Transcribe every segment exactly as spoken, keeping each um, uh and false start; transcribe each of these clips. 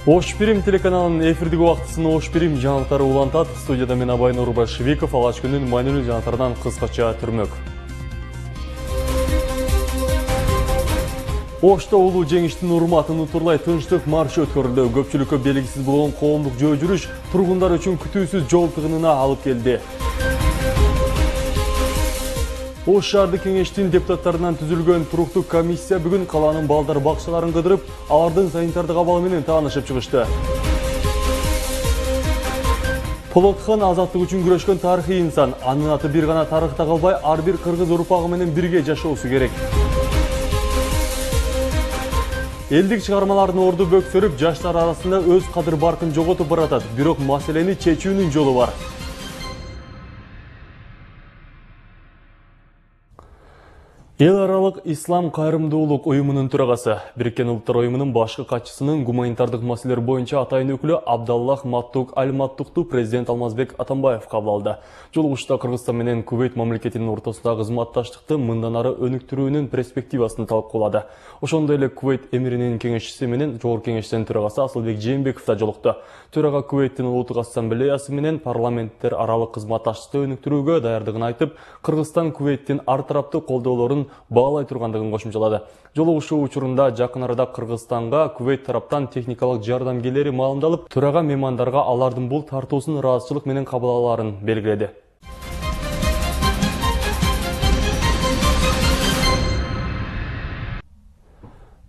Ош Пирим телеканалынын эфирдик убактысын Ош Пирим жаңылыктары улантат. Студияда мен Абай Нурбашевиков, алгач күндүн маанилүү жаңылыктарынан кыскача түрмөк. Ошто улуу жеңиштин урматын утурлай тынчтык маршы өткөрүлдү. Көпчүлүккө белгисиз болгон коомдук жөө жүрүш тургундар үчүн күтүүсүз жол тыгынына алып келди. Ош шаардык кеңештин депутаттарынан түзүлгөн туруктуу комиссия бүгүн калаанын балдар бакчаларын кыдырып, алардын санитардык абалы менен таанышып чыгышты. Полотхан азаттык үчүн күрөшкөн тарыхый инсан. Анын аты бир гана тарыхта калбай, ар бир кыргыз урпагы менен бирге жашоосу керек. Элдик чыгармалардын орду бөксөрүп, жаштар арасында өз кадыр баркын жоготуп баратат. Бирок маселени чечүүнүн жолу бар. Эл аралык Ислам кайрымдуулук уюмунун төрагасы, Бириккен Улуттар уюмунун башкы катчысынын гуманитардык маселелер боюнча атайын өкүлү Абдаллах Маттук Аль-Маттукту президент Алмазбек Атамбаев кабыл алды. Жолугушта Кыргызстан менен Кувейт мамлекетинин ортосундагы кызматташтыкты мындан ары өнүктүрүүнүн перспективасын талкуулады. Ошондой эле Кувейт эмиринин кеңешчиси менен Жогорку Кеңештин төрагасы Асылбек Жээнбеков да жолукту. Төрага Кувейттин Улуттук ассамблеясы менен парламенттер аралык кызматташтыкты өнүктүрүүгө даярдыгын айтып, Кыргызстан Кувейттин ар тараптуу колдоолорун баалай тургандыгын кошумчалады. Жолугушуу учурунда жакын арада Кыргызстанга Кувейт тараптан техникалык жардам келери маалымдалып, төрага меймандарга алардын бул тартуусун ыраазычылык менен кабыл алаарын белгиледи.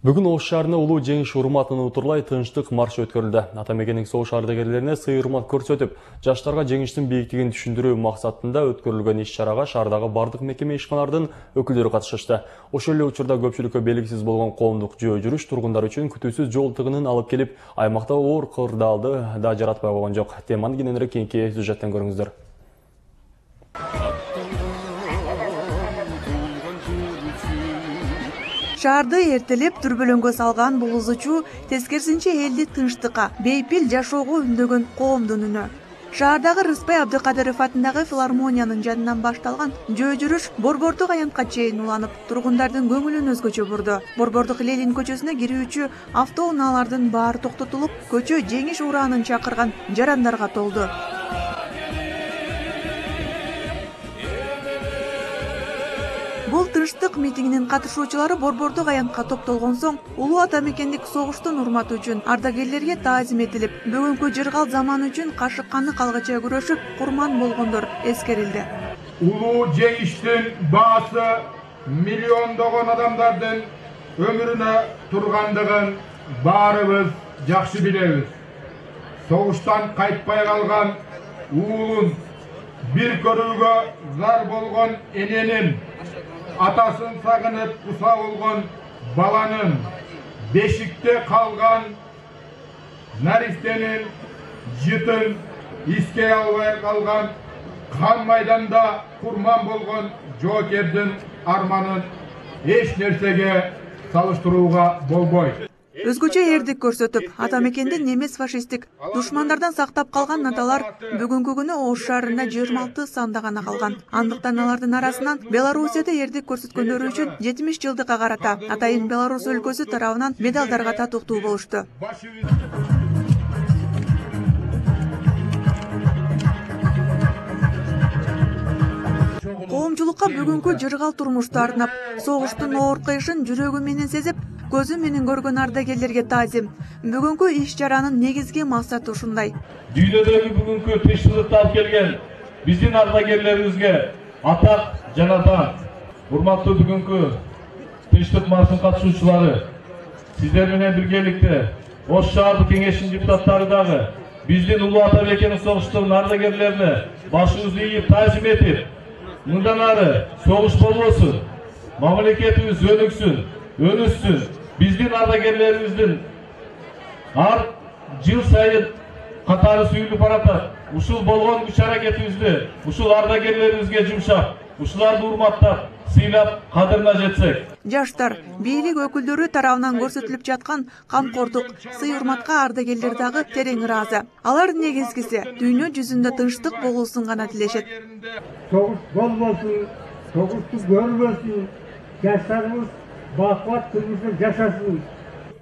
Бүгүн Ош шаарында улуу жеңиш урматын утурлай тынчтык марш өткөрүлдү. Ата мекендик согуш ардагерлерине сый урмат көрсөтүп, жаштарга жеңиштин бийиктигин түшүндүрүү максатында өткөрүлгөн иш-чарага шаардагы бардык мекеме ишканалардын өкүлдөрү катышышты. Ошол эле учурда көпчүлүккө белгисиз болгон коомдук жөө жүрүш тургундар үчүн күтүүсүз жол тыгынын алып келип, аймакта оор кырдаалды да жаратпай койгон жок. Теманы кененирээк кийинки сюжеттен көрүңүздөр. Шаарды эртелеп дүрбөлөңгө салган бул ызычуу тескерисинче элди тынчтыкка, бейпил жашоого үндөгөн коомдун үнү. Шаардагы Рыспай Абдыкадыров атындагы филармониянын жанынан башталган жөө жүрүш Борбордук аянтка чейин уланып, тургундардын көңүлүн өзгөчө бурду. Борбордук Ленин көчөсүнө кирүүчү автоунаалардын баары токтотулуп, көчө жеңиш ураанын чакырган жарандарга толду. Бул тынчтык митингинин катышуучулары Борбордук аянтка топтолгон соң, улуу ата мекендик согуштун урматы үчүн ардагерлерге таазим этилип, бүгүнкү жыргал заман үчүн кашык-канды калгача күрөшүп, курман болгондор эскерилди. Улуу жеңиштин баасы миллиондогон адамдардын өмүрүнө тургандыгын баарыбыз жакшы билебиз. Согуштан кайтпай калган уулун, бир көрүүгө зар болгон эненин, атасын сагынып куса болгон баланын, бешикте калган наристенин жытын искей албай калган, кан майданда курман болгон жоокердин арманын эч нерсеге салыштырууга болбойт. Өзгөчө эрдик көрсөтүп, ата мекендин эмес фашисттик душмандардан сактап калган наталар бүгүнкү күнү Ош шаарында жыйырма алты санда гана калган. Андыктан алардын арасынан Белоруссияда эрдик көрсөткөндөрү үчүн жетимиш жылдыкка карата Атайын Беларусь өлкөсү тарабынан медалдарга татыктуу болушту. Коомчулукка бүгүнкү жыргал турмушту арнап, согуштун оор кыйышын жүрөгү менен сезип, көзү менен көргөн ардагерлерге таазим. Бүгүнкү иш-чаранын негизги максаты ушундай. Дүйнөдөгү бүгүнкү тынчтыкты алып келген биздин ардагерлерибизге атак жана даан. Урматтуу бүгүнкү тынчтык маршынын катышуучулары, сиздер менен биргеликте Ош шаардык кеңештин депутаттары дагы биздин улуу ата мекендик согуштун ардагерлерине башыбызды ийип таазим этип, мындан ары согуш болбосун, мамлекетибиз өнүксүн, өнүссүн, биздин ардагерлерибиздин ар жыл сайын катары сүйүлүп баратат. Ушул болгон күч аракетибизди ушул ардагерлерибизге жумшап, ушуларды урматтап, сыйлап, кадырына жетсек. Жаштар, бийлик өкүлдөрү тарабынан көрсөтүлүп жаткан камкордук, сый-урматка ардагерлер дагы терең ыраазы. Алар негизгиси дүйнө жүзүндө тынчтык болуусун гана тилешет. Согуш болбосун, согушту көрбөсүн, жаштарыбыз бакубат турмушта жашасын.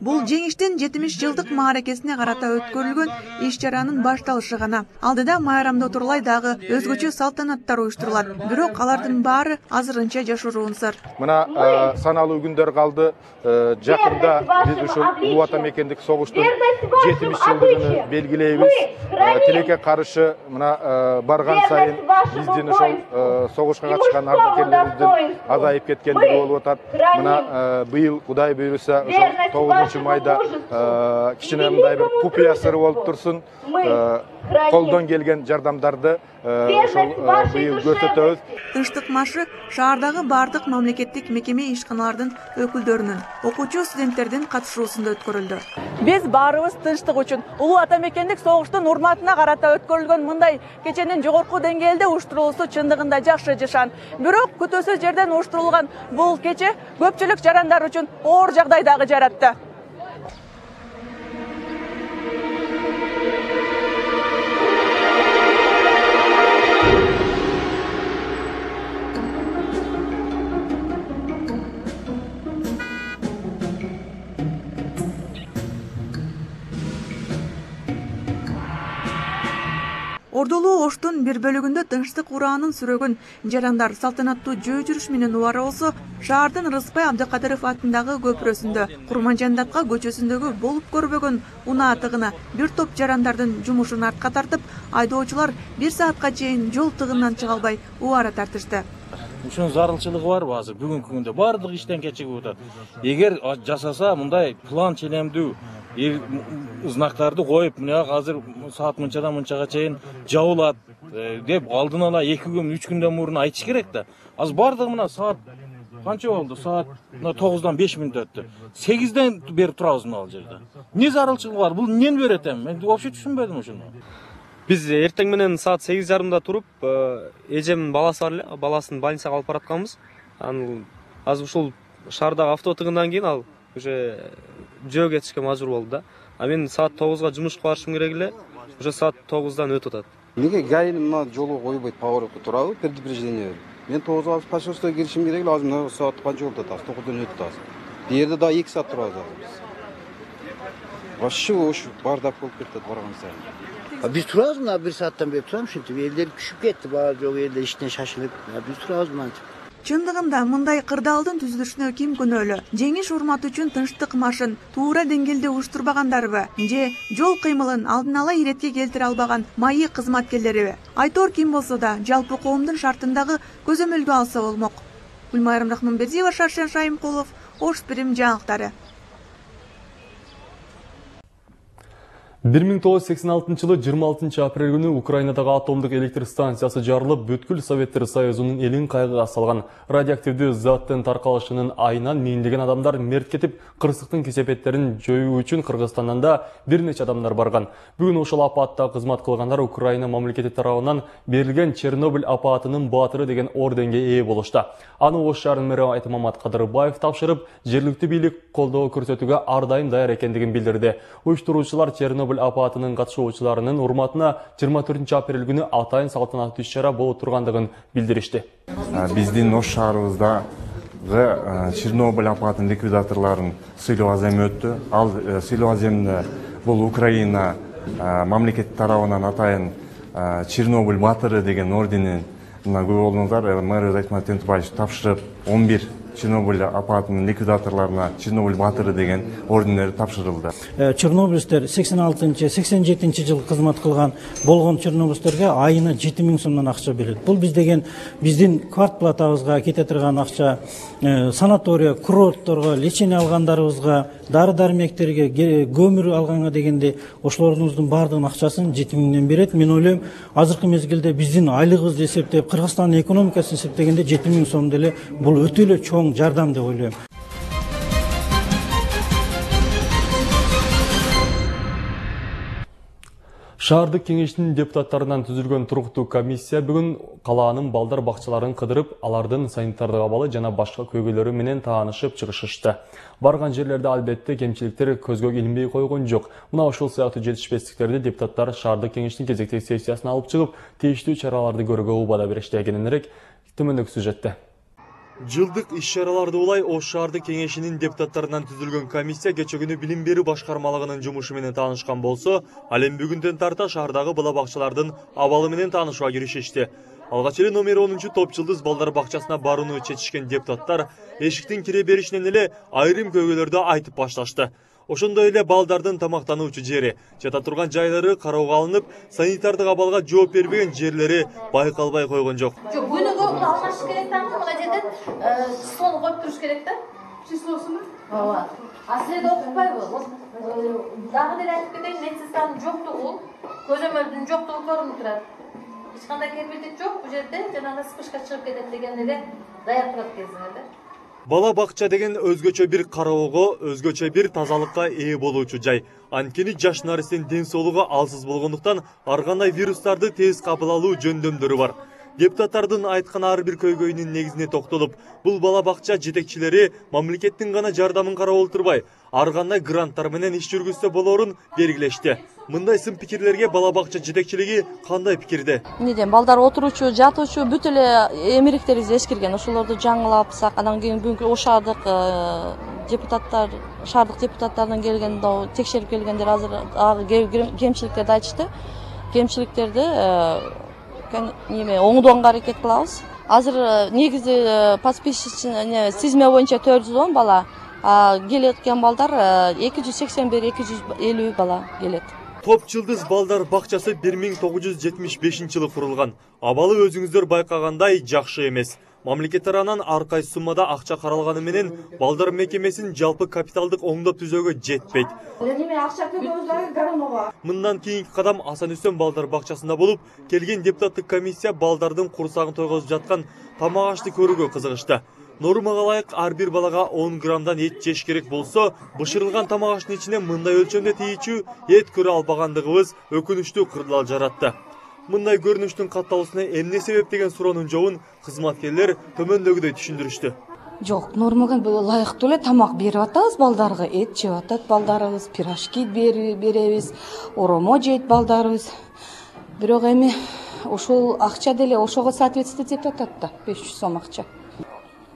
Бул жеңиштин жетимиш жылдык мааракесине карата өткөрүлгөн иш-чаранын башталышы гана. Алдыда майрамда отурлай дагы өзгөчө салтанаттар уюштурулат. Бирок алардын баары азырынча жашыруун сыр. Мына саналуу күндөр калды. Жакында биз ушул улуу ата мекендик согуштун жетимиш жылдыгын белгилейбиз. Тилекке каршы мына барган сайын биздин ошол согушка катышкан ардакерлерибиздин азайып кеткендиги болуп атат. Мына быйыл Кудай буйруса ошол тогузунчу майда кичине мындай бир купуя сыры болуп турсун. Колдон келген жардамдарды ошол быйыл көрсөтөбүз. Тынчтык маршы шаардагы бардык мамлекеттик мекеме ишканалардын өкүлдөрүнүн, окуучу студенттердин катышуусунда өткөрүлдү. Биз баарыбыз тынчтык үчүн улуу ата мекендик согуштун урматына карата өткөрүлгөн мындай кеченин жогорку деңгээлде уюштурулуусу чындыгында жакшы жашан. Бирок күтүүсүз жерден уюштурулган бул кече көпчүлүк жарандар үчүн оор жагдай дагы жаратты. Ордулуу Оштун бир бөлүгүндө тынчтык ураанын сүрөгөн жарандар салтанаттуу жөө жүрүш менен убара болсо, шаардын Рыспай Абдыкадыров атындагы көпүрөсүндө, Курманжандатка көчөсүндөгү болуп көрбөгөн унаа тыгына бир топ жарандардын жумушун артка тартып, айдоочулар бир саатка чейин жол тыгындан чыга албай убара тартышты. Ушунун зарылчылыгы барбы азыр бүгүнкү күндө баардык иштен кечигип атат. Эгер жасаса мындай план челемдүү знактарды коюп, мына азыр саат мынчадан мынчага чейин жабылат деп алдын ала эки күн, үч күндөн мурун айтыш керек да. Азыр баардыгы мына саат канча болду? Саат тогуздан беш мүнөт өттү. сегизден бери турабыз мына жерде. Эмне зарылчылык бар? Бул эмнени берет эми? Мен вообще түшүнбөдүм ушуну. Биз эртең менен саат сегиз жарымда туруп, эжемдин баласы бар эле, баласын больницага алып баратканбыз. Анан азыр ушул шаардагы авто тыгындан кийин ал уже жөө кетишке мажбур болду да. А мен саат тогузга жумушка барышым керек эле, уже саат тогуздан өтүп атат. Эмнеге гаинин мына жолго койбойт, поворотко турабы, предупреждение. Мен тогузга почтовского киришим керек эле, азыр мына саат канча болуп атат? тогуздан өтүп атат. Бу жерде да эки саат турабыз азыр. Вообще ош бардап болуп кетет барган сайын. Биз турабыз мына бир сааттан бери турам, ушинтип элдер күшүп кетти, баары жок элдер иштен шашылып. Биз турабыз мынтип. Чындыгында мындай кырдаалдын түзүлүшүнө ким күнөөлүү? Жеңиш урматы үчүн тынчтык маршын туура деңгээлде уюштурбагандарбы? Же жол кыймылын алдын ала иретке келтире албаган майы кызматкерлериби? Айтор ким болсо да жалпы коомдун шартындагы көзөмөлгө алса болмок. Гүлмайрам Рахманбердиева, Шаршен Шайымкулов, Ош Пирим жаңылыктары. бир миң тогуз жүз сексен алтынчы жылы жыйырма алтынчы апрель күнү Украинадагы атомдук электр станциясы жарылып, бүткүл Советтер Союзунун элин кайгыга салган. Радиоактивдүү заттын таркалышынын айынан миңдеген адамдар мерт кетип, кырсыктын кесепеттерин жоюу үчүн Кыргызстандан да бир нече адамдар барган. Бүгүн ошол апаатта кызмат кылгандар Украина мамлекети тарабынан берилген Чернобыль апаатынын баатыры деген орденге ээ болушту. Аны Ош шаарынын мэри Айтмамат Кадырбаев тапшырып, жергиликтүү бийлик колдоо көрсөтүүгө ар дайым даяр экендигин билдирди. Уюштуруучулар Чернобыль апаатынын катышуучуларынын урматына жыйырма төртүнчү апрель күнү атайын салтанаттуу иш-чара болуп тургандыгын билдиришти. Биздин Ош шаарыбызда Чернобыль апаатынын ликвидаторлорун сыйлоо азем өттү. Ал сыйлоо аземде бул Украина мамлекети тарабынан атайын Чернобыль баатыры деген орденин мына көп болдуңуздар, мэр Айтмат Тентубаевич тапшырып, он бир Чернобыль апаатынын ликвидаторлоруна Чернобыль баатыры деген ордендер тапшырылды. Чернобыльдер сексен алтынчы сексен жетинчи жыл кызмат кылган болгон чернобыльдерге айына жети миң сомдон акча берет. Бул биз деген биздин квартплатабызга кете турган акча, санатория, курортторго, лечение алгандарыбызга, дары-дармектерге, көмүр алганга дегенде ошолордун баардыгынын акчасын жети миңден берет. Мен ойлойм, азыркы мезгилде биздин айлыгыбызды эсептеп, Кыргызстандын экономикасын эсептегенде жети миң сом деле бул өтө эле чоң жардам деп ойлойм. Шаардык кеңештин депутаттарынан түзүлгөн туруктуу комиссия бүгүн калаанын балдар бакчаларын кыдырып, алардын санитардык абалы жана башка көйгөйлөрү менен таанышып чыгышышты. Барган жерлерде албетте кемчиликтер көзгө илинбей койгон жок. Мына ошол сыяктуу жетишпестиктерди депутаттар шаардык кеңештин кезектеги сессиясына алып чыгып, тийиштүү чараларды көрүүгө убада беришти. Кененирээк төмөндөгү сюжетте. Жылдык иш-чараларды улай Ош шаардык кеңешинин депутаттарынан түзүлгөн комиссия кече күнү билим берүү башкармалыгынын жумушу менен таанышкан болсо, ал эми бүгүндөн тарта шаардагы бала бакчалардын абалы менен таанышууга киришишти. Алгач эле номер онунчу топ жылдыз балдар бакчасына барууну чечишкен депутаттар эшиктин кире беришинен эле айрым көйгөйлөрдү айтып башташты. Ошондой эле балдардын тамактануучу жери, жата турган жайлары кароого алынып, санитардык абалга жооп бербеген жерлери байкалбай койгон жок. Жок, бөлүнгө алмаш керек да, мына жерден числону коюп туруш керек да. Числосуну? Ооба. А силерде окутпайбы? Дагы деле айтып кетейин, медсестранын жоктугу, көзөмөлдүн жоктугу көрүнүп турат. Эч кандай кепилдик жок, бул жерде жанагы спышка чыгып кетет деген эле даяр турат кезинде. Бала бакча деген өзгөчө бир кароого, өзгөчө бир тазалыкка ээ болуучу жай. Анткени жаш наристин ден соолугу алсыз болгондуктан ар кандай вирустарды тез кабыл алуу жөндөмдөрү бар. Депутаттардын айткан ар бир көйгөйүнүн негизине токтолуп, бул бала бакча жетекчилери мамлекеттин гана жардамын карап отурбай, ар кандай гранттар менен иш жүргүзсө болоорун белгилешти. Мындай сын пикирлерге бала бакча жетекчилиги кандай пикирде? Неден балдар отуручу, жатуучу бүт эле эмеректерибиз эскирген. Ошолорду жаңылапсак, анан кийин бүгүнкү Ош шаардык депутаттар, шаардык депутаттардан келген, текшерип келгендер азыр кемчиликтерди айтышты. Кемчиликтерди неме оңдоого аракет кылабыз. Азыр негизи подписчине сизме боюнча төрт жүз он бала, келеткен балдар эки жүз сексен бир эки жүз элүү бала келет. Топ жылдыз балдар бакчасы бир миң тогуз жүз жетимиш бешинчи жылы курулган. Абалы өзүңүздөр байкагандай жакшы эмес. Мамлекет тарабынан ар кайсы суммада акча каралганы менен балдар мекемесин жалпы капиталдык оңдоп түзөөгө жетпейт. Неме акча төлөбүз дагы гармого. Мындан кийинки кадам Асан Үсөн балдар бакчасында болуп, келген депутаттык комиссия балдардын курсагын тойгозуп жаткан тамак ашты көрүүгө кызыгышты. Нормага ылайык ар бир балага он граммдан эт жеш керек болсо, бышырылган тамак аштын ичине мындай өлчөмдө тийичүү эт көрө албагандыгыбыз өкүнүчтүү кырдаал жаратты. Мындай көрүнүштүн катталуусуна эмне себеп деген суроонун жообун кызматкерлер төмөндөгүдөй түшүндүрүштү. Жок, нормага ылайыктуу эле тамак берип атабыз балдарга, эт жеп атат балдарыбыз, пирожки беребиз, оромо жейт балдарыбыз. Бирок эми ошол акча деле ошого соответствовать этип атат да, беш жүз сом акча.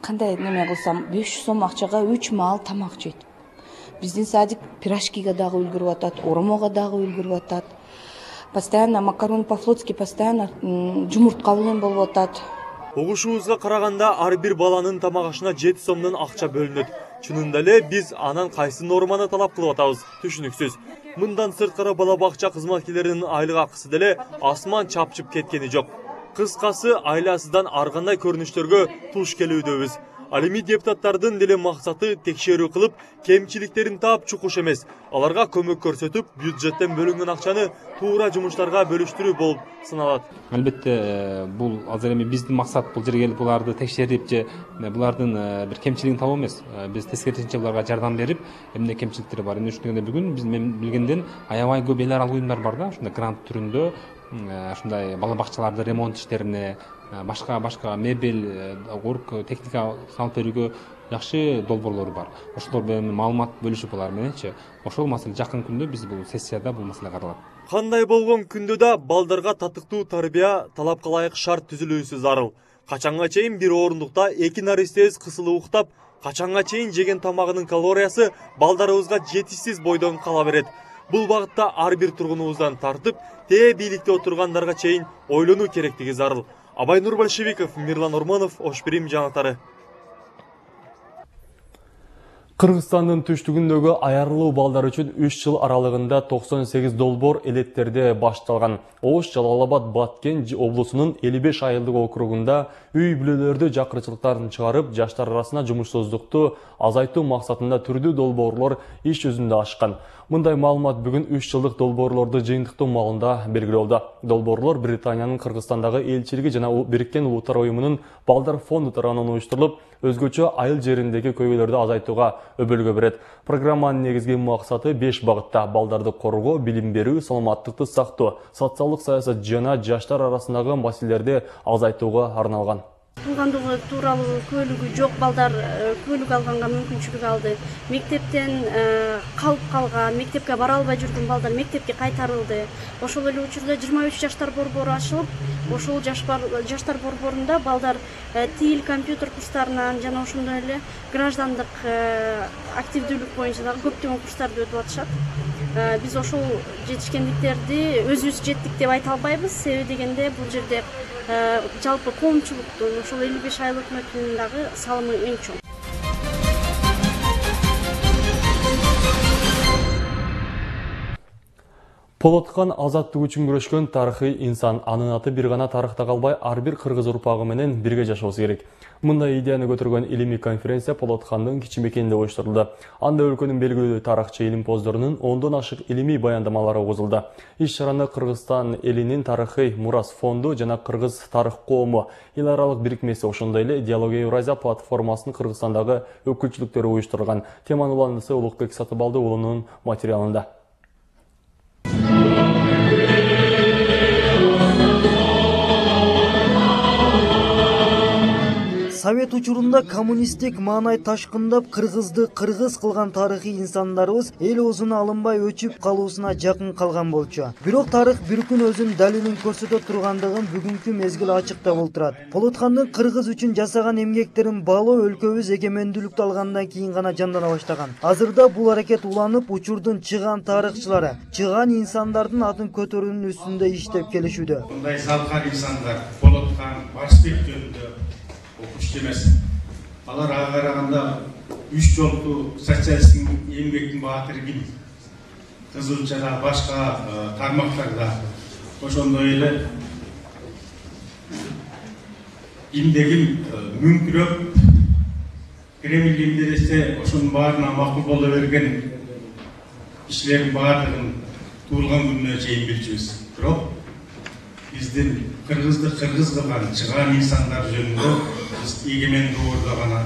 Кандай неме кылсам, беш жүз сом акчага үч маал тамак жейт. Биздин садик пирожкиге дагы үлгүрүп атат, оромого дагы үлгүрүп атат. Постоянно макарон по-флотски, постоянно жумуртка менен болуп атат. Угушубузга караганда ар бир баланын тамак ашына жети сомдон акча бөлүнөт. Чынында эле биз анан кайсы норманы талап кылып атабыз? Түшүнүксүз. Мындан сырткары бала бакча кызматкерлеринин айлык акысы деле асман чапчып кеткени жок. Кыскасы айласыздан ар кандай көрүнүштөргө туш келүүдөбүз. Ал эми депутаттардын деле максаты текшерүү кылып, кемчиликтерин таап чукуш эмес. Аларга көмөк көрсөтүп, бюджеттен бөлүнгөн акчаны туура жумуштарга бөлүштүрүү болуп саналат. Албетте, бул азыр эми биздин максат бул жерге келип буларды текшерип же булардын бир кемчилигин табуу эмес. Биз тескерисинче буларга жардам берип, эмне кемчиликтери бар. Эмне үчүн дегенде бүгүн биз мен билгенден аябай көп эл аралык уюмдар бар да, ушундай грант түрүндө, ушундай бала бакчаларды ремонт иштерине, башка башка мебель, орг, техника салып берүүгө жакшы долбоорлор бар. Ошолор менен маалымат бөлүшүп алар мененчи, ошол маселе жакын күндө биз бул сессияда бул маселе каралат. Кандай болгон күндө да балдарга татыктуу тарбия, талапка ылайык шарт түзүлүүсү зарыл. Качанга чейин бир орундукта эки наристебиз кысылып уктап, качанга чейин жеген тамагынын калориясы балдарыбызга жетишсиз бойдон кала берет. Бул багытта ар бир тургунубуздан тартып, тээ бийликте отургандарга чейин ойлонуу керектиги зарыл. Абайнур Большевиков, Мирлан Орманов, Ош Прим жаңылыктары. Кыргызстандын түштүгүндөгү аярлуу балдар үчүн үч жыл аралыгында токсон сегиз долбоор элеттерде башталган. Ош, Жалал-Абад, Баткен облусунун элүү беш айылдык округунда үй бүлөлөрдү жакырчылыктарын чыгарып, жаштар арасына жумушсуздукту азайтуу максатында түрдүү долбоорлор иш жүзүндө ашкан. Мындай маалымат бүгүн үч жылдык долбоорлорду жыйынтыктоо маалында белгиледи. Долбоорлор Британиянын Кыргызстандагы элчилиги жана Бириккен Улуттар уюмунун Балдар фонду тарабынан уюштурулуп, өзгөчө айыл жериндеги көйгөйлөрдү азайтууга өбөлгө берет. Программанын негизги максаты беш багытта: балдарды коргоо, билим берүү, саламаттыкты сактоо, социалдык саясат жана жаштар арасындагы маселелерди азайтууга арналган. Туугандыгы тууралуу көлүгү жок балдар көлүк алганга мүмкүнчүлүк алды. Мектептен калып калган, мектепке бара албай жүргөн балдар мектепке кайтарылды. Ошол эле учурда жыйырма үч жаштар борбору ачылып, ошол жаштар борборунда балдар тил, компьютер курстарынан жана ошондой эле граждандык активдүүлүк боюнча дагы көптөгөн курстарды өтүп атышат. Биз ошол жетишкендиктерди өзүбүз жеттик деп айта албайбыз. Себеби дегенде бул жерде жалпы коомчулуктун ошол элүү беш айыл өкмөтүнүн дагы салымы эң чоң. Полоткан азаттык үчүн күрөшкөн тарыхый инсан, анын аты бир гана тарыхта калбай, ар бир кыргыз урпагы менен бирге жашоосу керек. Мындай идеяны көтөргөн илимий конференция Полоткандын кичимекенинде оюштурулду. Анда өлкөнүн белгилүү тарыхчы илимпоздорунун ондон ашык илимий баяндамалары угузулду. Иш-чараны Кыргызстан элинин тарыхый мурас фонду жана Кыргыз тарых коому эл аралык бирикмеси, ошондой эле Диалогия Евразия платформасынын Кыргызстандагы өкүлчүлүктөрү уюштурган. Теманын уландысы Улукбек Сатыбалды уулунун материалында. Совет учурунда коммунисттик маанай ташкындап, кыргызды кыргыз кылган тарыхый инсандарыбыз эл оозуна алынбай өчүп калуусуна жакын калган болчу. Бирок тарых бир күн өзүнүн далилин көрсөтө тургандыгын бүгүнкү мезгил ачыктап отурат. Полоткандын кыргыз үчүн жасаган эмгектерин баалоо өлкөбүз эгемендүүлүктү алгандан кийин гана жандана баштаган. Азырда бул аракет уланып, учурдун чыган тарыхчылары чыган инсандардын атын көтөрүүнүн үстүндө иштеп келишүүдө. Мындай залкар инсандар Полоткан, Барсбек жөнүндө окуучу эмес. Алар ага караганда үч жолку социалисттин эмгектин баатыры ким? Кызылчада башка тармактарда ошондой эле кимде ким мүңкүрөп Кремль кимде десе ошонун баарына макул боло берген кишилердин баардыгын туулган күнүнө чейин билчүбүз. Бирок биздин кыргызды кыргыз кылган чыган инсандар жөнүндө биз эгемендүү ордо гана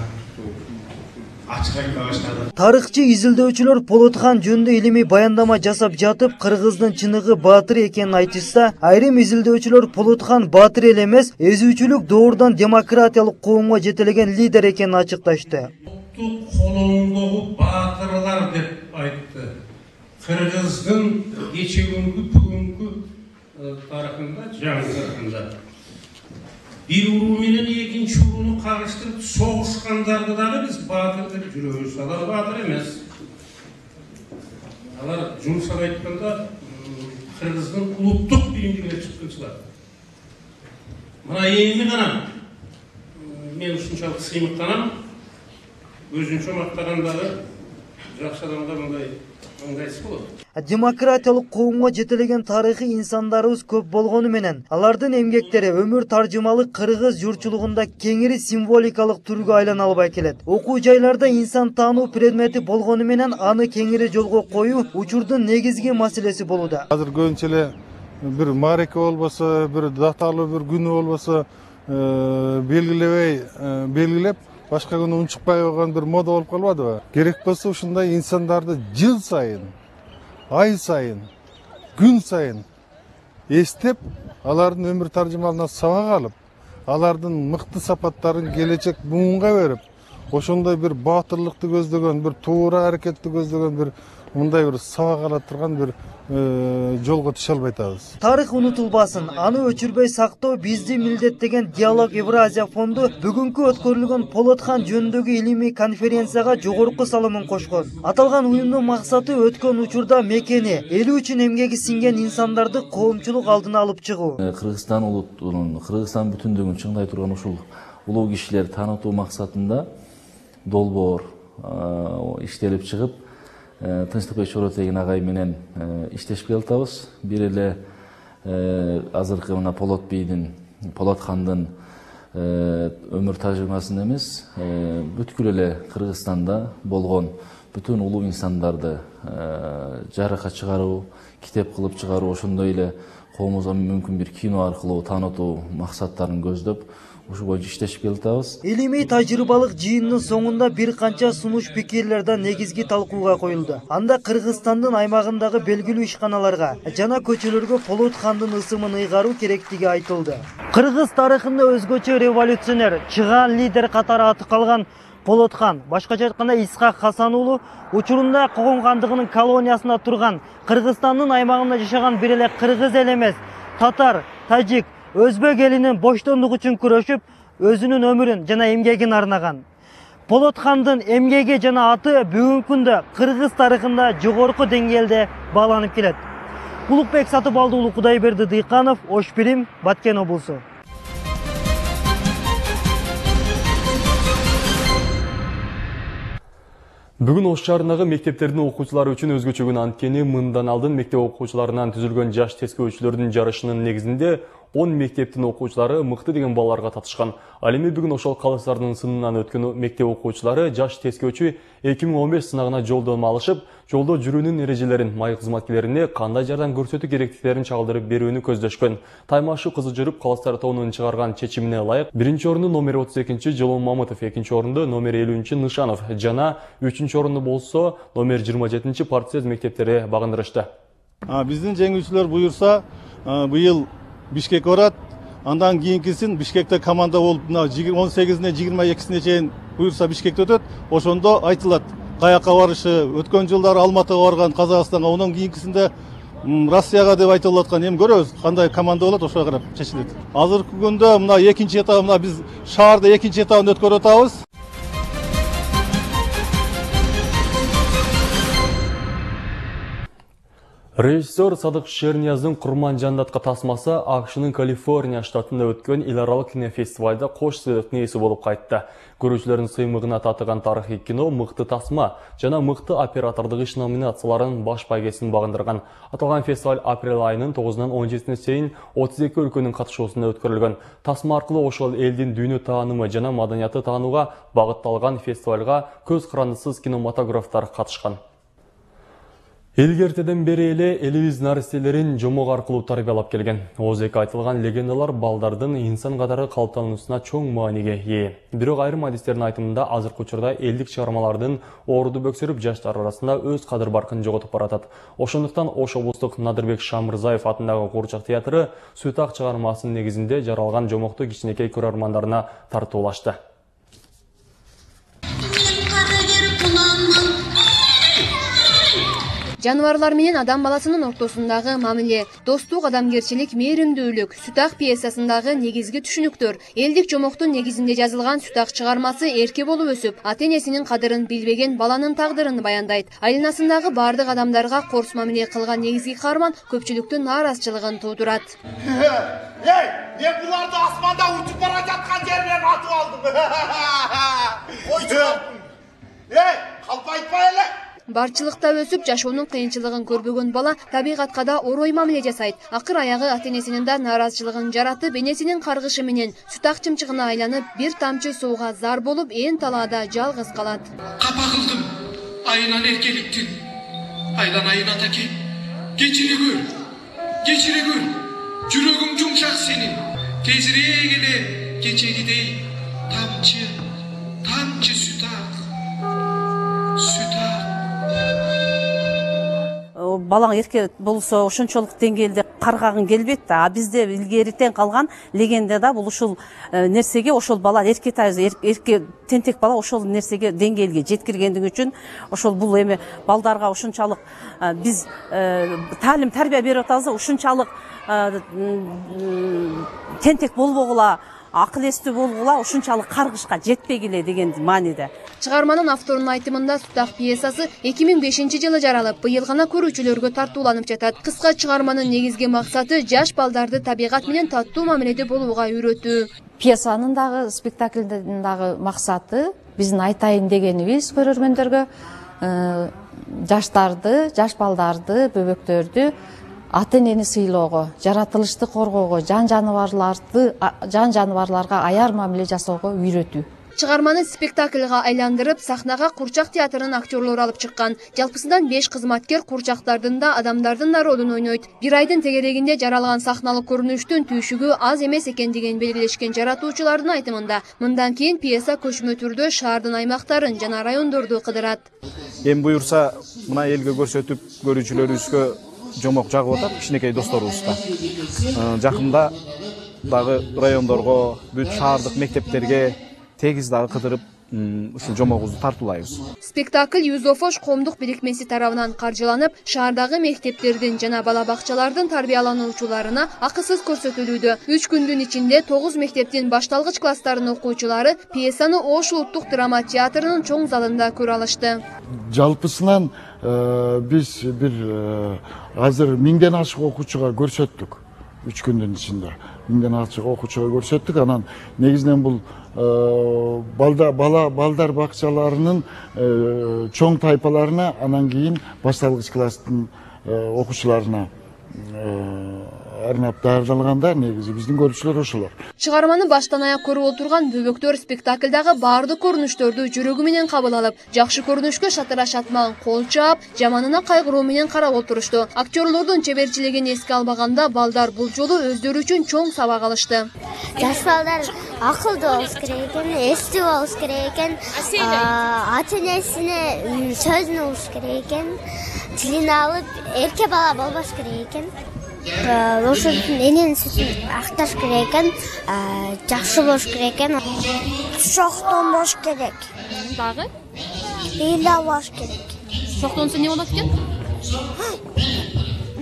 ачык айта баштадык. Тарыхчы изилдөөчүлөр Полоткан жөнүндө илимий баяндама жасап жатып, кыргыздын чыныгы баатыр экенин айтышса, айрым изилдөөчүлөр Полоткан баатыр эле эмес, эзүүчүлүк доордон демократиялык коомго жетелеген лидер экенин ачыкташты. Улуттук колоңдогу баатырлар деп айтты. Кыргыздын кечеги бүгүнкү тарыхында, жаңы тарыхында бир уруу менен экинчи урууну кагыштырып согушкандарды дагы биз баатыр деп жүрөбүз. Алар баатыр эмес. Алар жумшак айтканда кыргыздын улуттук биримдигине чыккынчылар. Мына эми гана мен ушунчалык сыймыктанам. Өзүнчө мактагандагы жакшы адамга мындай мындайсы болот. Демократиялык коомго жетелеген тарыхый инсандарыбыз көп болгону менен, алардын эмгектери өмүр таржымалык кыргыз журтчулугунда кеңири символикалык түргө айлана албай келет. Окуу жайларда инсан таануу предмети болгону менен аны кеңири жолго коюу учурдун негизги маселеси болууда. Азыр көбүнчө эле бир маареке болбосо, бир даталуу бир күнү болбосо белгилебей белгилеп башка күнү унчукпай койгон бир мода болуп калбадыбы? Керек болсо ушундай инсандарды жыл сайын, ай сайын, күн сайын эстеп, алардын өмүр таржымалына сабак алып, алардын мыкты сапаттарын келечек буунга берип, ошондой бир баатырлыкты көздөгөн, бир туура аракетти көздөгөн бир мындай бир сабак ала турган бир жолго түшө албай атабыз. Тарых унутулбасын, аны өчүрбөй сактоо бизди милдеттеген Диалог Евразия фонду бүгүнкү өткөрүлгөн Полоткан жөнүндөгү илимий конференцияга жогорку салымын кошкон. Аталган уюмдун максаты өткөн учурда мекени, эли үчүн эмгеги сиңген инсандарды коомчулук алдына алып чыгуу. Кыргызстан улутунун, Кыргызстан бүтүндүгүн чыңдай турган ушул улуу кишилерди таанытуу максатында долбоор иштелип чыгып, Тынчтыкбек Чоротегин агай менен иштешип келатабыз. Бир эле азыркы мына Полот бийдин, Полоткандын өмүр тажрыйбасын эмес, бүткүл эле Кыргызстанда болгон бүтүн улуу инсандарды жарыкка чыгаруу, китеп кылып чыгаруу, ошондой эле коомубузга мүмкүн бир кино аркылуу таанытуу максаттарын көздөп, ушул боюнча иштешип келатабыз. Илимий тажрыйбалык жыйындын соңунда бир канча сунуш пикирлер да негизги талкууга коюлду. Анда Кыргызстандын аймагындагы белгилүү ишканаларга жана көчөлөргө Полот хандын ысымын ыйгаруу керектиги айтылды. Кыргыз тарыхында өзгөчө революционер, чыгаан лидер катары аты калган Полот хан, башкача айтканда Исхак Хасан уулу, учурунда Когон хандыгынын колониясында турган Кыргызстандын аймагында жашаган бир эле кыргыз эл эмес, татар, тажик, өзбек элинин боштондугу үчүн күрөшүп, өзүнүн өмүрүн жана эмгегин арнаган. Полот хандын эмгеги жана аты бүгүнкү күндө кыргыз тарыхында жогорку деңгээлде бааланып келет. Улукбек Сатыбалды уулу, Кудайберди Дыйканов, Ош Бирим, Баткен облусу. Бүгүн Ош шаарындагы мектептердин окуучулары үчүн өзгөчө күн, анткени мындан алдын мектеп окуучуларынан түзүлгөн жаш тескөөчүлөрдүн жарышынын негизинде он мектептин окуучулары мыкты деген балларга татышкан. Ал эми бүгүн ошол калыстардын сынынан өткөн мектеп окуучулары жаш тескөөчү эки миң он беш сынагына жолдомо алышып, жолдо жүрүүнүн эрежелерин, май кызматкерлерине кандай жардам көрсөтүү керектиктерин чагылдырып берүүнү көздөшкөн. Таймашы кызы жүрүп калыстар тобунун чыгарган чечимине ылайык биринчи орунду номер отуз экинчи Жолон Мамытов, экинчи орунду номер элүүнчү Нышанов жана үчүнчү орунду болсо номер жыйырма жетинчи Партсез мектептери багындырышты. Биздин жеңүүчүлөр буюрса быйыл Бишкек барат, андан кийинкисин Бишкекте команда болуп, он сегизине жыйырма экисине чейин буюрса Бишкекте өтөт. Ошондо айтылат каяка барышы. Өткөн жылдары Алматыга барган, Казакстанга, онун кийинкисинде Россияга деп айтылып аткан. Эми көрөбүз кандай команда болот, ошого карап чечилет. Азыркы күндө мына экинчи этап, мына биз шаарда экинчи этабын өткөрүп атабыз. Режиссер Садык Шернияздын Курман жандатка тасмасы АКШнын Калифорния штатында өткөн эл аралык кинофестивалда кош сыйлыктын ээси болуп кайтты. Көрүүчүлөрдүн сыймыгына татыган тарыхый кино мыкты тасма жана мыкты оператордук иш номинацияларын баш байгесин багындырган. Аталган фестиваль апрель айынын тогузунан он жетисине чейин отуз эки өлкөнүн катышуусунда өткөрүлгөн. Тасма аркылуу ошол элдин дүйнө таанымы жана маданияты таанууга багытталган фестивалга көз карандысыз кинематографтар катышкан. Элгертеден бери эле элибиз наристелерин жомок аркылуу тарбиялап келген. Оозеки айтылган легендалар балдардын инсан катары калыптануусуна чоң мааниге ээ. Бирок айрым адистердин айтымында азыркы учурда элдик чыгармалардын ооруду бөксөрүп, жаштар арасында өз кадыр баркын жоготуп баратат. Ошондуктан Ош облустук Надырбек Шамырзаев атындагы Куурчак театры Сүтак чыгармасынын негизинде жаралган жомокту кичинекей көрөрмандарына тартуулашты. Жаныбарлар менен адам баласынын ортосундагы мамиле, достук, адамгерчилик, мээримдүүлүк Сүтак пьесасындагы негизги түшүнүктөр. Элдик жомоктун негизинде жазылган Сүтак чыгармасы эрке болуп өсүп, ата-энесинин кадырын билбеген баланын тагдырын баяндайт. Айланасындагы бардык адамдарга корс мамиле кылган негизги каарман көпчүлүктүн нааразычылыгын туудурат. Эй, мен буларды асманда учуп бара жаткан жерден атып алдым. Ойчу калдым. Эй, калп айтпай эле. Барчылыкта өсүп, жашоонун кыйынчылыгын көрбөгөн бала табигатка да орой мамиле жасайт. Акыр аягы ата-энесинин да нааразычылыгын жаратып, энесинин каргышы менен Сүтак чымчыгына айланып, бир тамчы сууга зар болуп, ээн талаада жалгыз калат. Капа кылдым. Айынан эркеликтин. Айлан айын атаке. Кечире көр. Кечире көр. Жүрөгүң жумшак сенин. Тезирээк эле кечегидей тамчы, тамчы Сүтак. Сүтак. Балаң эрке болсо ошончолук деңгээлде каргагың келбейт да. А бизде илгеритен калган легендада бул ушул нерсеге ошол бала эрке эрке тентек бала ошол нерсеге деңгээлге жеткиргендиги үчүн ошол бул эми балдарга ушунчалык биз таалим тарбия берип атабыз, ушунчалык тентек болбогула, акыл эстүү болгула, ушунчалык каргышка жетпегиле деген мааниде. Чыгарманын авторунун айтымында Сүтак пьесасы эки миң бешинчи жылы жаралып, быйыл гана көрүүчүлөргө тартууланып жатат. Кыска чыгарманын негизги максаты жаш балдарды табигат менен таттуу мамиледе болууга үйрөтүү. Пьесанын дагы, спектаклдин дагы максаты биздин айтайын дегенибиз көрөрмөндөргө жаштарды, жаш балдарды, бөбөктөрдү ата-энени сыйлоого, жаратылышты коргоого, жан жаныбарларды, жан жаныбарларга аяр мамиле жасоого үйрөтүү. Чыгарманы спектаклга айландырып, сахнага Курчак театрынын актерлору алып чыккан. Жалпысынан беш кызматкер Курчактардын да, адамдардын да ролун ойнойт. Бир айдын тегерегинде жаралган сахналык көрүнүштүн түйшүгү аз эмес экендигин белгилешкен жаратуучулардын айтымында, мындан кийин пьеса көчмө түрдө шаардын аймактарын жана райондорду кыдырат. Эми буюрса, мына элге көрсөтүп, көрүүчүлөрүбүзгө жомок жагып атат, кичинекей досторубузга. Жакында дагы райондорго, бүт шаардык мектептерге тегиз дагы кыдырып, ушул жомогубузду тартуулайбыз. Спектакль Юзофош коомдук бирикмеси тарабынан каржыланып, шаардагы мектептердин жана бала бакчалардын тарбиялануучуларына акысыз көрсөтүлүүдө. үч күндүн ичинде тогуз мектептин башталгыч класстарынын окуучулары пьесаны Ош улуттук драма театрынын чоң залында көрө алышты. Жалпысынан биз бир азыр миңден ашык окуучуга көрсөттүк. үч күндүн ичинде миңден ашык окуучуга көрсөттүк. Анан негизинен бул балда бала балдар бакчаларынын чоң тайпаларына, анан кийин башталгыч класстын окуучуларына арнап даярдалганда негизи биздин көрүүчүлөр ошолор. Чыгарманы баштан аяк көрүп отурган бөбөктөр спектаклдагы баардык көрүнүштөрдү жүрөгү менен кабыл алып, жакшы көрүнүшкө шатыра шатман кол чаап, жаманына кайгыруу менен карап отурушту. Актерлордун чеберчилигин эске албаганда, балдар бул жолу өздөрү үчүн чоң сабак алышты. Жаш балдар акылдуу болуш керек экен, эстүү болуш керек экен, ата энесине сөзүн угуш керек экен, тилин алып, эрке бала болбош керек экен. Ошол эненин сүтүн акташ керек экен, жакшы болуш керек экен. Шоктонбош керек. Дагы? Ыйлап болуш керек. Шоктонсо эмне болот экен?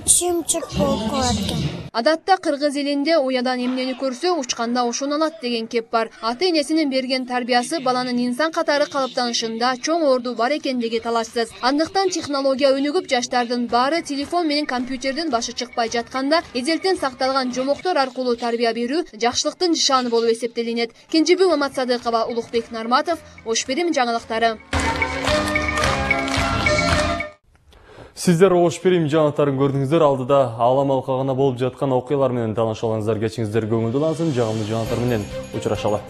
Чымчык болуп калат экен. Адатта кыргыз элинде уядан эмнени көрсө, учканда ошону алат деген кеп бар. Ата энесинин берген тарбиясы баланын инсан катары калыптанышында чоң орду бар экендиги талашсыз. Андыктан технология өнүгүп, жаштардын баары телефон менен компьютердин башы чыкпай жатканда, эзелтен сакталган жомоктор аркылуу тарбия берүү жакшылыктын нышаны болуп эсептелинет. Кенжебек Маматсадыкова, Улукбек Нарматов, Ош Перим жаңылыктары. Сиздер Ош Перим жаңалыктарын көрдүңүздөр. Алдыда аалам алкагына болуп жаткан окуялар менен тааныша алыңыздар. Кечиңиздер көңүлдүү улансын. Жагымдуу жаңалыктар менен учурашалы.